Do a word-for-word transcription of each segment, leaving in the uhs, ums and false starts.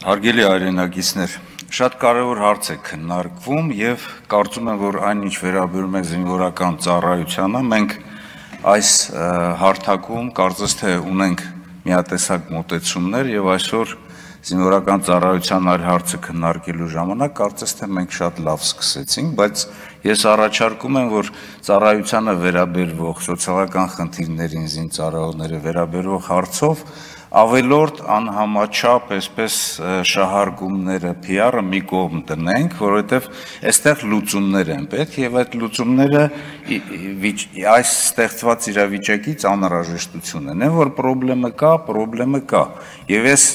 Հարգելի հայրենակիցներ, շատ կարևոր հարց է քննարկվում եւ կարծում եմ, որ այն ինչ վերաբերում է զինվորական ծառայությանը, մենք այս հարթակում կարծես թե ունենք միատեսակ մոտեցումներ եւ այսօր զինվորական ծառայության այլ հարցը քննարկելու ժամանակ կարծես թե մենք շատ լավ սկսեցինք, բայց ես առաջարկում եմ, որ ծառայությանը վերաբերվող սոցիալական խնդիրներին զինծառայողները վերաբերող հարցով ավելորդ անհամաչափ այսպես շահարկումները, P R-ը մի կողմ դնենք, որովհետև այստեղ լուծումներ են պետք եւ այդ լուծումները այս ստեղծված իրավիճակից անհրաժեշտություն են, որ խնդրեմը կա, խնդրեմը կա։ Եվ ես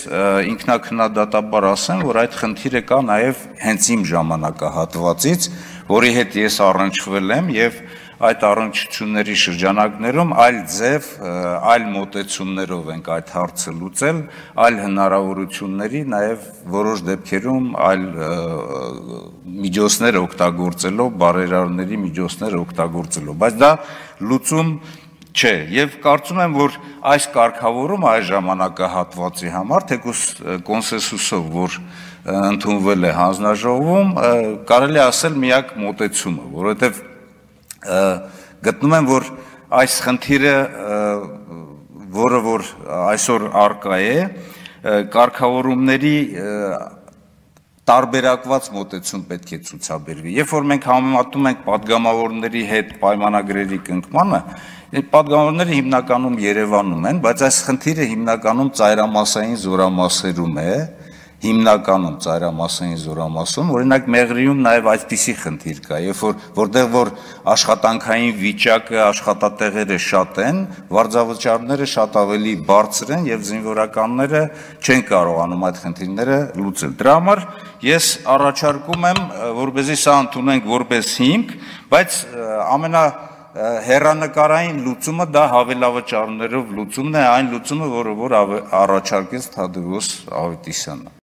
ինքնակնդատաբար ասեմ, որ այդ խնդիրը կա նաեւ հենց իմ ժամանակահատվածից, որի հետ ես առնչվել եմ եւ այդ առնչությունների շրջանակներում այլ ձև, այլ մոտեցումներով ենք այդ հարցը լուծել, այլ հնարավորությունների, նաև որոշ դեպքերում այլ միջոցներ օգտագործելով, բարերարների միջոցներ օգտագործելով, բայց դա լուծում չէ, եւ կարծում եմ, որ այս կարգավորումը այս ժամանակահատվածի համար, թեկուզ կոնսենսուսով, որ ընդունվել է հանձնաժողովում, կարելի է ասել միակ մոտեցումը, որովհետեւ գտնում եմ, որ այս խնդիրը, որը որ այսօր առկա է, կարգավորումների տարբերակված մոտեցում պետք է ցուցաբերվի։ Երբ որ մենք համեմատում ենք падգամավորների հետ պայմանագրերի կնքմանը, падգամավորները հիմնականում Երևանում են, բայց այս խնդիրը հիմնականում ծայրամասային զորամասերում է, հիմնականում ծայրամասային զորամասում, օրինակ Մեղրիում նաև այսպիսի խնդիր կա, երբ որ որտեղ որ աշխատանքային վիճակը, աշխատատեղերը շատ են, վարձավճարները շատ ավելի բարձր են եւ զինվորականները չեն կարողանում այդ խնդիրները լուծել։ Դրա համար ես առաջարկում եմ, որպեսզի սա ընդունենք որպես հիմք, բայց ամենա հեռանկարային լուծումը դա հավելավճարներով լուծումն է, այն լուծումը, որը որ առաջարկեց Թադևոս Ավետիսյանը։